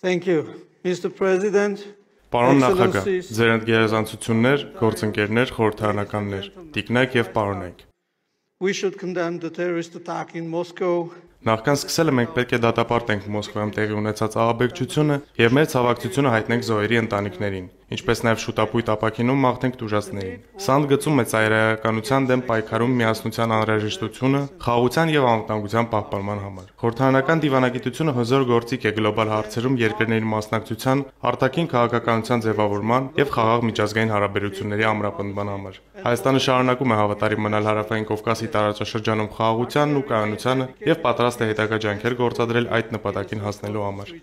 Thank you, Mr. President. Պարոն նախագահ, ձեր ընդգերազանցություններ, գործընկերներ, խորհրդարանականներ, տիկնայք եւ պարոնայք։ We should condemn the terrorist attack in Moscow. Նախքան սկսելը մենք պետք է դատապարտենք Մոսկվայում տեղի ունեցած ահաբեկչությունը եւ մեր ցավակցությունը հայտնենք զոհերի ընտանիքներին, ինչպես նաեւ շուտապույտ ապակինում մաղթենք տուժածներին։ Սա ընդգծում է ծայրահեղականության դեմ պայքարում միասնության անհրաժեշտությունը խաղաղության եւ անվտանգության պահպանման համար։ Խորհրդարանական դիվանագիտությունը հզոր գործիք է գլոբալ հարցերում երկրների մասնակցության, արտաքին քաղաքականության ձևավորման եւ խաղաղ միջազգային հարաբերությունների ամրապնդման համար։ Հայաստանը շարունակում է հավատարիմ մնալ Հարավային Կովկասի տարածաշրջանում խաղաղությանն ու կայունությանը եւ պատրաստ է հետագա ջանքեր գործադրել այդ նպատակին հասնելու համար։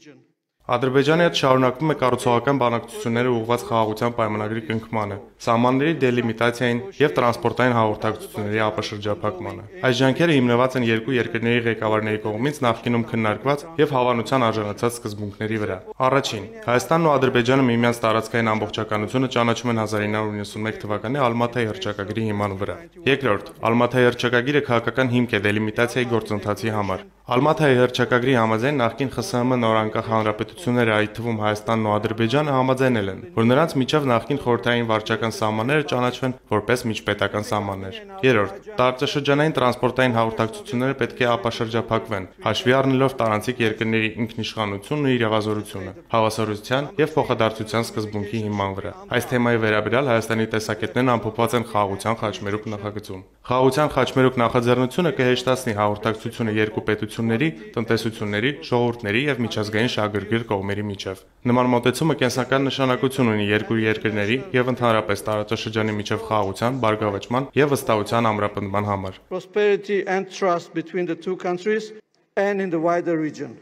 Ադրբեջանը շարունակվում է կառուցողական բանակցությունները ուղղված խաղաղության պայմանագրի կնքմանը, սահմանների դելիմիտացիային եւ տրանսպորտային հաղորդակցությունների ապաշրջափակմանը։ Այս ջանքերը հիմնված են երկու երկրների ղեկավարների կողմից նախկինում քննարկված եւ հավանության արժանացած սկզբունքների վրա։ Առաջին, Հայաստանն ու Ադրբեջանը միմյանց տարածքային ամբողջականությունը ճանաչում են 1991 թվականի Ալմաթայի հռչակագրի հիման վրա։ Երկրորդ, Ալմաթայի հռչակագիրը քաղաքական հիմք է դելիմիտացիայի գործընթացի համար։ Ալմաթայի հռչակագրի համաձայն նախկին ԽՍՀՄ նորանկախ հանրապետությունները, այդ թվում Հայաստանն ու Ադրբեջանը համաձայնել են, որ նրանց միջև նախկին խորհրդային վարչական սահմանները ճանաչվեն որպես միջպետական սահմաններ։ Երրորդ, տարածաշրջանային տրանսպորտային հաղորդակցությունները պետք է ապաշրջափակվեն, հաշվի առնելով տարանցիկ երկրների ինքնիշխանությունն ու իրավազորությունը, հավասարության եւ փոխադարձության սկզբունքի հիման վրա։ Այս թեմայի վերաբերյալ Հայաստանի տեսակետներն ամփոփված են խաղաղության խաչմերուկ նախագծում։ Խաղաղության խաչմերուկ նախաձեռնությունը կհեշտացնի հաղորդակցությունը երկու պետությունների, տնտեսությունների, ժողովուրդների եւ միջազգային շահագրգիռ կողմերի միջև։ Նման մոտեցումը կենսական նշանակություն ունի երկու երկրների եւ ընդհանրապես տարածաշրջանի միջև խաղաղության, բարգավաճման եւ վստահության ամրապնդման համար։ Prosperity and trust between the two countries and in the wider region.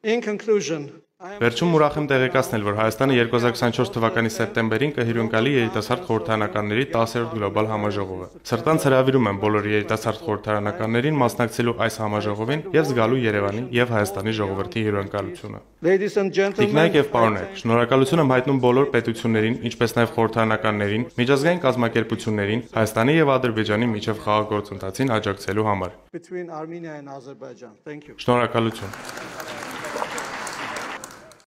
In conclusion, Վերջում ուրախ եմ տեղեկացնել, որ Հայաստանը 2024 թվականի սեպտեմբերին կհյուրընկալի երիտասարդ խորհրդարանականների 10-րդ գլոբալ համաժողովը։ Սրտանց հրավիրում եմ բոլոր երիտասարդ խորհրդարանականներին մասնակցելու այս համաժողովին եւ զգալու Երևանի եւ Հայաստանի ժողովրդի հյուրընկալությունը։ ladies and gentlemen, Տիկնայք եւ պարոնայք, շնորհակալություն եմ հայտնում բոլոր պետություններին, ինչպես նաեւ խորհրդարանականներին, միջազգային կազմակերպություններին, Հայաստանի եւ Ադրբեջանի միջև խաղաղ գործընթացին աջակցելու համար։ between Armenia and Azerbaijan. Thank you. Շնորհակալություն։